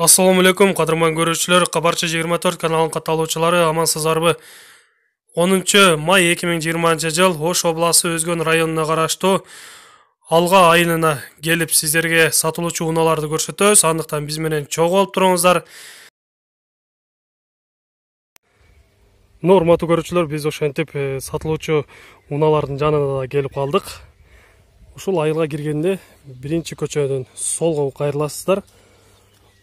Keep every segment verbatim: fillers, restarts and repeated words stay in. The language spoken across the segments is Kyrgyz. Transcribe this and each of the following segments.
Ассаламу алейкум, кадырман көрүүчүлөр, Кабарчы жыйырма төрт каналынын катталуучулары, амансыздарбы? онунчу май эки миң жыйырманчы жыл Ош областы Өзгөн районуна караштуу Алга айылына келип сиздерге сатылуучу унааларды көрсөтөбүз. Андыктан биз менен чогуу болуп туруңуздар. Урматтуу көрүүчүлөр, биз ошентип сатылуучу унаалардын жанына да келип калдык. Ушул айылга киргенде биринчи көчөдөн солго кайрыласыздар.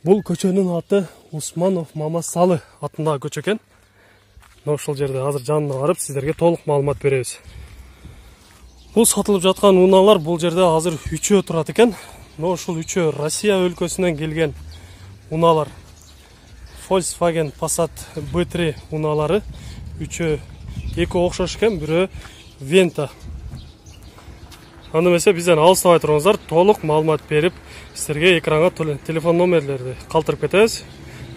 Бул көчөнүн аты Усманов Мамасалы атындагы көчө экен. Ошол жерде азыр жанына барып сиздерге толук маалымат беребиз. Бул сатылып жаткан унаалар бул жерде азыр үчөө турат экен. Но ушул үчөө Россия өлкөсүнөн келген унаалар. Volkswagen Passat бэ три унаалары үчөө эки окшош экен, бирөө Venta. Аны эмесе бизден алыстабай туруңуздар, толук маалымат берип, сиздерге экранга телефон номерлерди калтырып кетебиз.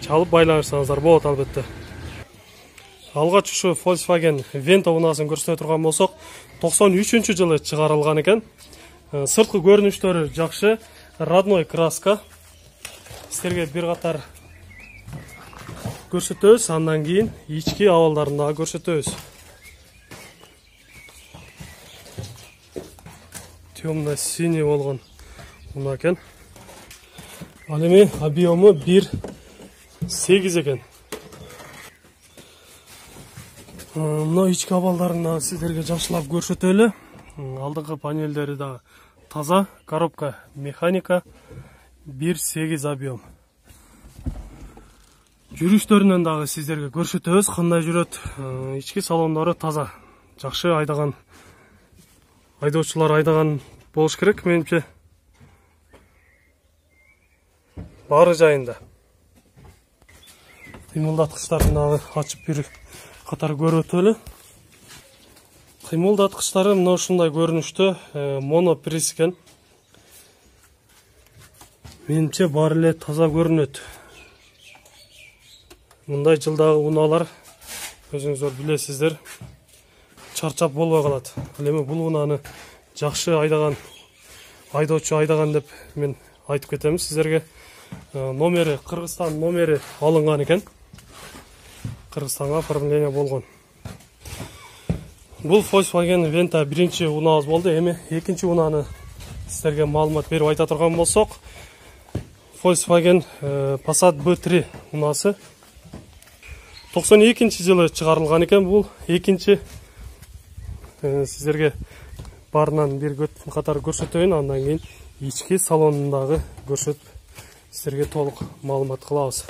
Чалып байланышсаңыздар болот албетте. Алгач ушу Volkswagen Venta унаасын көрсөтө турган болсок, токсон үчүнчү жылы чыгарылган экен. Сырткы көрүнүштөрү жакшы, родной краска. Сиздерге бир катар көрсөтөбүз, андан кийин ички абалдарын дагы көрсөтөбүз. Темно-синий болгон уна экен. Ал эми объему бир сегиз экен. Мына ички абалдарын дагы сиздерге жакшылап көрсөтөлү. Алдыңкы панелдери да таза, коробка механика, бир сегиз объем. Жүрүштөрүнөн дагы сиздерге көрсөтөбүз, кандай жүрөт. Ички салондору таза, жакшы айдаган айдоочулар айдаган болуш керек, менимче. Баары жайында. Кыймылдаткычтарын дагы ачып бир катар көрүп өтөлү. Кыймылдаткычтары мына ушундай көрүнүштө, монопресс экен. Менимче баары эле таза көрүнөт. Мындай жылдагы унаалар өзүңүздөр билесиздер, чарчап болбой калат. Ал эми бул унааны жакшы айдаган айдоочу айдаган деп мен айтып кетем сиздерге. Номери, Кыргызстан номери алынган экен. Кыргызстанга оформление болгон. Бул Volkswagen Venta биринчи унаабыз болду. Эми экинчи унааны сиздерге маалымат берип айта турган болсок, Volkswagen Passat бэ три унаасы токсон экинчи жылы чыгарылган экен. Бул экинчи сиздерге баарынан бир катар көрсөтөйүн, андан кийин ички салонундагы көрсөтүп сиздерге толук маалымат кылабыз.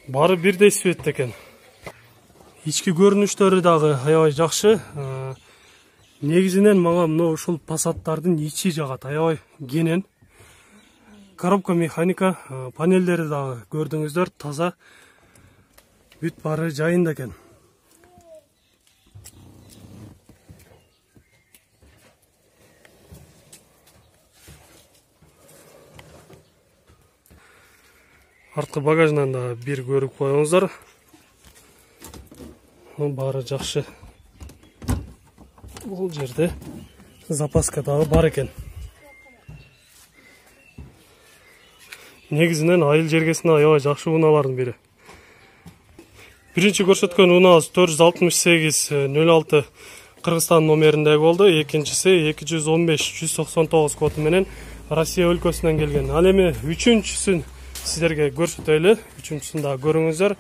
Баары бирдей цветте экен. Ички көрүнүштөрү дагы аябай жакшы. Негизинен мага мына ушул Passаттардын ичи жагат, аябай кенен. Коробка механика, панелдери дагы көрдүңүздөр, таза. Бүт баары жайында экен. Арткы багажынан да бир көрүп коюңуздар. Баары жакшы. Бул жерде запаска дагы бар экен. Негизинен айыл жергесине аябай жакшы унаалардын бири. Биринчи көрсөткөн унаабыз төрт жүз алтымыш сегиз нөл алты Кыргызстан номериндеги болду. Экинчиси эки жүз он беш жүз токсон тогуз коду менен Россия өлкөсүнөн келген. Ал эми үчүнчүсүн сиздерге көрсөтөлү. Үчүнчүсүн дагы көрүңүздөр.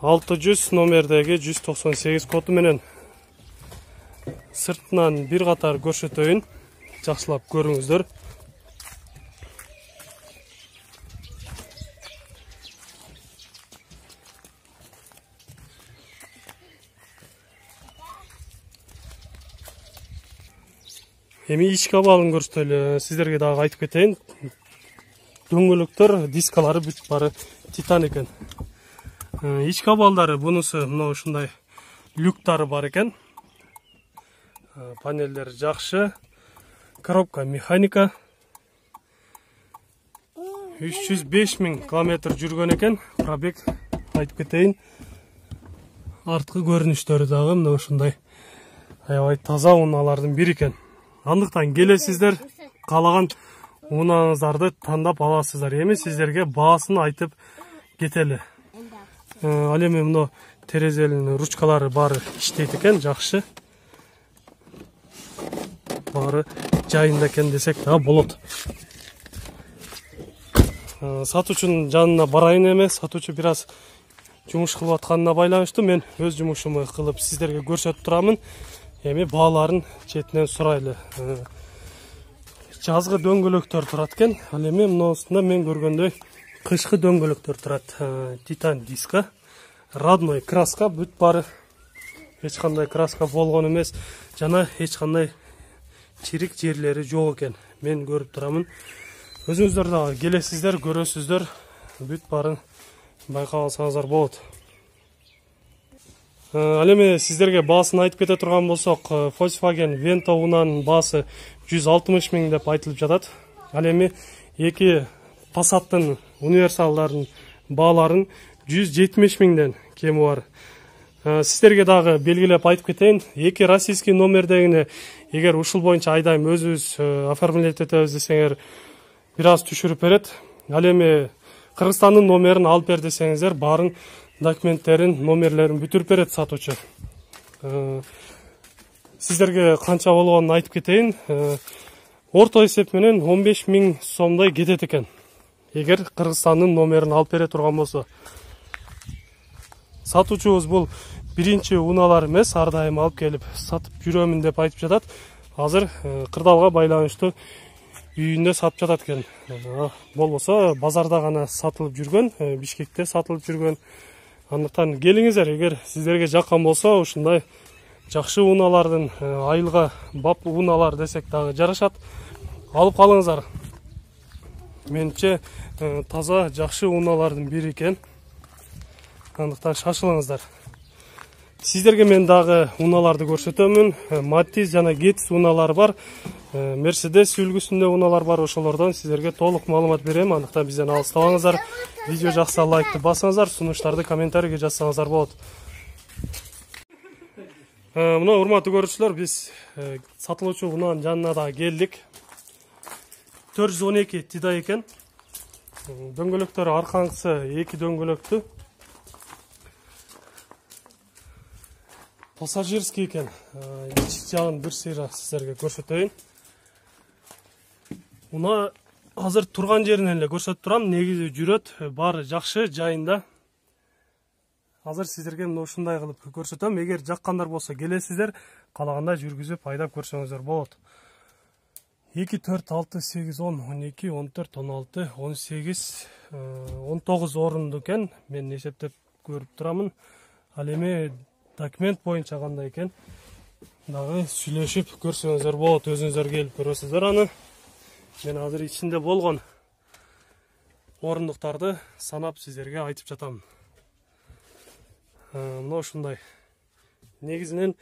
алты жүз номердеги жүз токсон сегиз коду менен. Сыртынан бир катар көрсөтөйүн. Жакшылап көрүңүздөр. Эми ички абалын көрсөтөлү. Сиздерге дагы айтып кетейин. Дөңгөлөктөр, дискалары бүт баары титан экен. Ички абалдары бунусу мына ушундай люктары бар экен. Панелдер жакшы. Коробка механика. үч жүз беш миң километр жүргөн экен. Пробег айтып кетейин. Арткы көрүнүштөрү дагы мына ушундай аябай таза унаалардын бири экен. Андыктан келесиздер, каалаган унааңыздарды тандап аласыздар. Эми сиздерге баасын айтып кетели. Ал эми мына терезелин ручкалары баары иштейт экен, жакшы. Баары жайында экен десек да болот. Сатуучунун жанына барайын эми. Сатуучу бир аз жумуш кылып атканына байланыштуу мен өз жумушумду кылып сиздерге көрсөтүп турамын. Эми бааларын четинен сурайлы. Жазгы дөңгөлөктөр турат экен. Ал эми мынусунда мен көргөндөй кышкы дөңгөлөктөр турат. Титан диска, родной краска, бүт баары эч кандай краска болгон эмес жана эч кандай чирик жерлери жок экен. Мен көрүп турамын. Өзүңүздөр дагы келесиздер, көрөсүздөр. Бүт баарын байкап алсаңыздар болот. Ал эми сиздерге баасын айтып кете турган болсок, Volkswagen Vento унаанын баасы жүз алтымыш миң деп айтылып жатат. Ал эми эки Passat'тын универсалдардын бааларын жүз жетимиш миңден кеми бар. Сиздерге дагы белгилеп айтып кетейин, эки российский номердегине эгер ушул боюнча айдайм өзүбүз оформлять этебиз десеңер бир аз түшүрүп берет. Ал эми Кыргызстандын номерин алып бер десеңиздер, баарын документтерин, номерлерин бүтүрүп берет сатуучу. Сиздерге канча болгонун айтып кетейин. Орто эсеп менен он беш миң сомдой кетет экен. Эгер Кыргызстандын номерин алып бере турган болсо. Сатуучубуз бул биринчи унаалар эмес, ар дайым алып келип сатып жүрөмүн деп айтып жатат. Азыр кырдаалга байланыштуу үйүндө сатып жатат экен. Болбосо базарда гана сатылып жүргөн, Бишкекте сатылып жүргөн. Андыктан келиңиздер, эгер сиздерге жаккан болсо, ушундай жакшы унаалардын айылга бап унаалар десек дагы жарашат. Алып калыңыздар. Менимче таза жакшы унаалардын бири экен. Андыктан шашылыңыздар. Сиздерге мен дагы унааларды көрсөтөмүн. Matiz жана Gettys унаалары бар. Mercedes үлгүсүндө унаалар бар. Ошолордон сиздерге толук маалымат берем. Андыктан бизден алыстабаңыздар. Видео жакса лайкты басыңыздар, сунуштарды комментарийге жазсаңыздар болот. Мына урматтуу көрүүчүлөр, биз сатылуучу унаанын жанына да келдик. төрт жүз он эки тидай экен. Дөңгөлөктөрү аркаңкысы эки дөңгөлөктүү. Пассажирский экен. Ички жагын бир сыйра сиздерге көрсөтөйүн. Уна азыр турган жеринен эле көрсөтүп турам. Негизи жүрөт, баары жакшы, жайында. Азыр сиздерге мына ушундай кылып көрсөтөм. Эгер жаккандар болсо келесиздер, каалаганда жүргүзүп айдап көрсөңүздөр болот. эки, төрт, алты, сегиз, он, он эки, он төрт, он алты, он сегиз, он тогуз орунду экен. Мен эсептеп көрүп турамын. Ал эми документ боюнча кандай экен дагы сүйлөшүп көрсөңүздөр болот. Өзүңүздөр келип көрөсүздөр аны. Мен азыр ичинде болгон орундуктарды санап сиздерге айтып жатам. Мына ушундай. Негизинен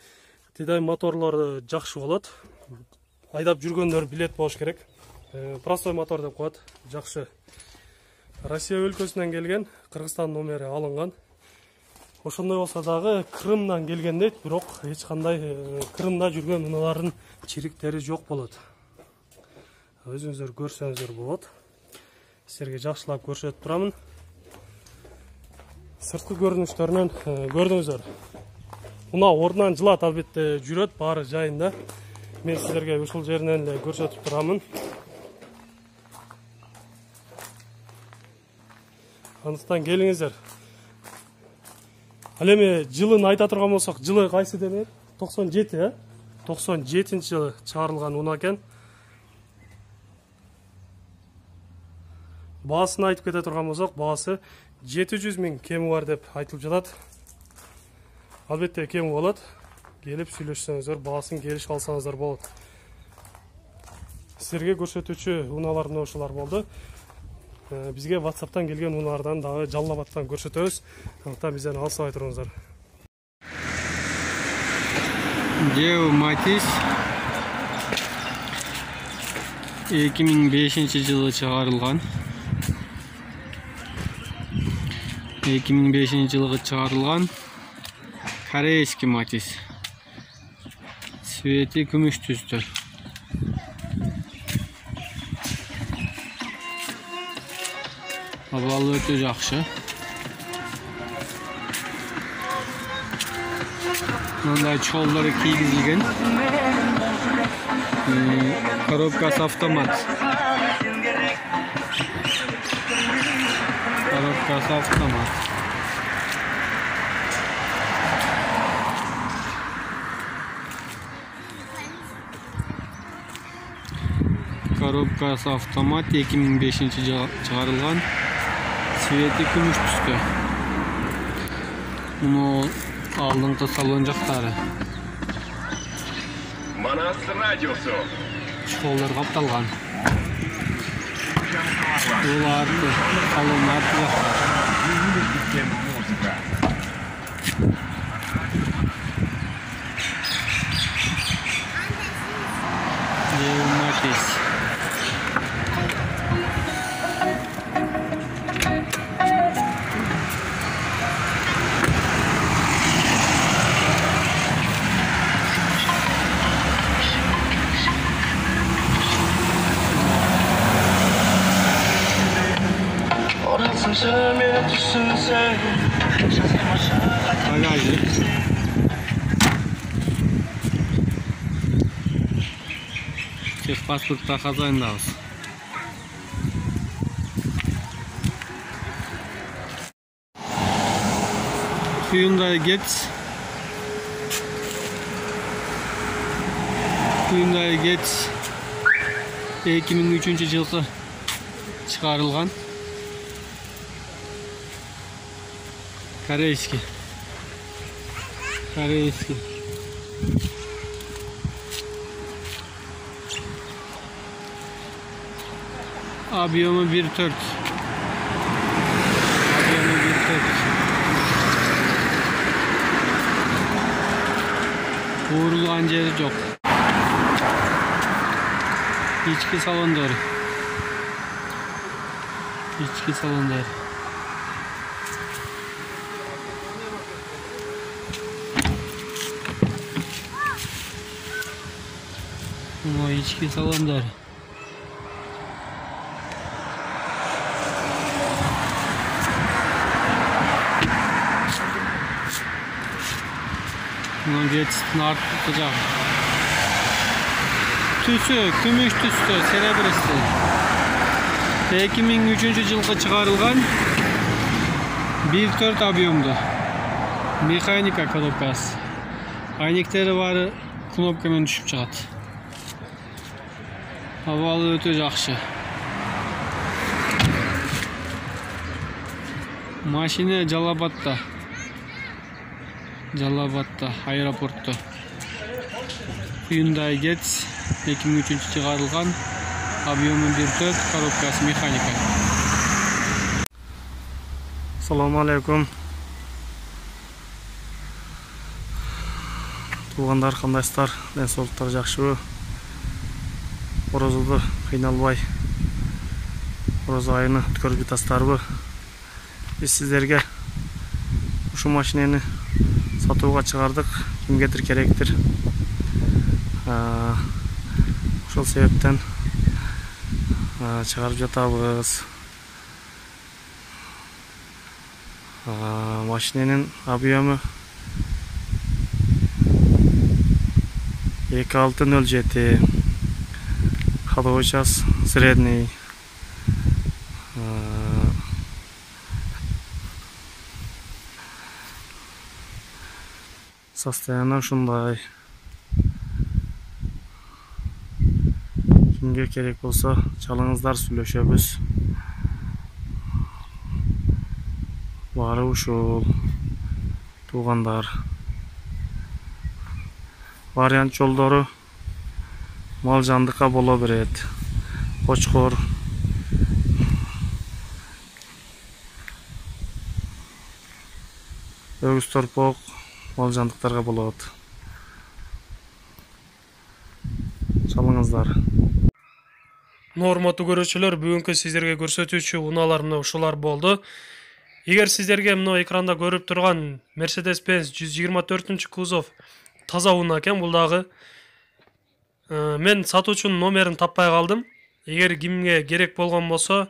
тидай моторлору жакшы болот. Айдап жүргөндөр билет болуш керек. Простой мотор деп коет. Жакшы. Россия өлкөсүнөн келген, Кыргызстан номери алынган. Ошондой болсо дагы Крымдан келген дейт, бирок эч кандай Крымда жүргөн унаалардын чириктери жок болот. Өзүңүздөр көрсөңүздөр болот. Силерге жакшылап көрсөтүп турамын. Сырткы көрүнүштөрүнөн көрдүңүздөр. Унаа ордунан жылат, албетте жүрөт, баары жайында. Мен сиздерге ушул жеринен эле көрсөтүп турамын. Андыктан келиңиздер. Ал эми жылын айта турган болсок, жылы кайсы деп? токсон жети, э? токсон жетинчи жылы чыгарылган унаа экен. Баасын айтып кете турган болсок, баасы жети жүз миң кеми бар деп айтылып жатат. Албетте кеми болот. Келип сүйлөшсөңүздөр, баасын келишип алсаңыздар болот. Силерге көрсөтүүчү унаалар мына ушулар болду. Бизге WhatsApp'тан келген унаалардан дагы жаллабаттан көрсөтөбүз. Андыктан бизден алыстабай туруңуздар. Geo Matiz эки миң бешинчи жылы чыгарылган. эки миң бешинчи жылы чыгарылган. Корейский Matiz. Цвети күмүш түстө. Абалы өтө жакшы. Мындай чолдору кийгизилген. Коробкасы автомат. Коробкасы автомат. Коробкасы автомат эки миң бешинчи жылы чыгарылган. Цвети күмүш түстө. Муну алдыңкы салон жактары. Манас радиосу. Чолдор капталган. Бул арты, салон арты жакта. Матис. Bagajlık. Çek pasportta kazayındayız. Hyundai Getz. Hyundai Getz эки миң үчүнчү жылы чыгарылган. Корейский. Корейский. Объемы bir төрт. Объемы bir төрт. Vurulgan jeri жок. İçki salonları. İçki salonları. O içki salonları. Bunu geçsin artık tutacağım. Tüsü, kümüş tüsü, serebrisi. эки миң үчүнчү жылғы çıkarılgan bir төрт объемду. Механика коробкасы. Айнектери бары кнопкамен түшүп чыгат. Абалы өтө жакшы. Машина Жалабатта. Жалабатта, аэропортто. Hyundai Getz эки миң үчүнчү чыгарылган. Объемы bir төрт, коробкасы механика. Assalamu alaikum. Туугандар, кандайсыздар? Ден соолуктар жакшыбы? Орозодо кыйналбай орозо айыны өткөрүп жатасыздарбы? Биз сиздерге ушул машинени сатууга чыгардык. Кимгедир керектир. Ошол себептен чыгарып жатабыз. Машиненин объемы эки алты нөл жети. Ходовой час средний. Состояние ушундай. Кимге керек болсо чалыңыздар, сүйлөшөбүз. Баары ушул. Туугандар. Вариант жолдору мал жандыкка боло берет. Кочкор, өгүз торпок мал жандыктарга болот. Чалыңыздар. Урматтуу көрүүчүлөр, бүгүнкү сиздерге көрсөтүүчү унаалар мына ушулар болду. Эгер сиздерге мына экранда көрүп турган Mercedes-Benz жүз жыйырма төртүнчү кузов таза унаа экен, бул дагы мен сатуучунун номерин таппай калдым. Эгер кимге керек болгон болсо,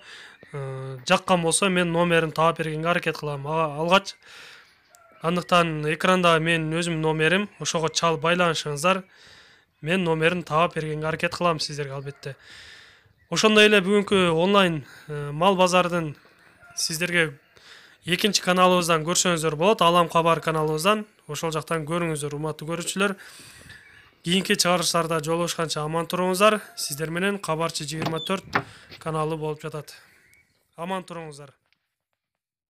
жаккан болсо мен номерин таап бергенге аракет кылам алгач. Андыктан экранда менин өзүмдүн номерим, ошого чалып байланышыңыздар. Мен номерин таап бергенге аракет кылам сиздерге албетте. Ошондой эле бүгүнкү онлайн мал базардын сиздерге экинчи каналыбыздан көрсөңүздөр болот. Алам кабар каналыбыздан. Ошол жактан көрүңүздөр, урматтуу көрүүчүлөр. Кийинки чыгарылыштарда жолугушканча аман туруңуздар. Сиздер менен Кабарчы жыйырма төрт каналы болуп жатат. Аман туруңуздар.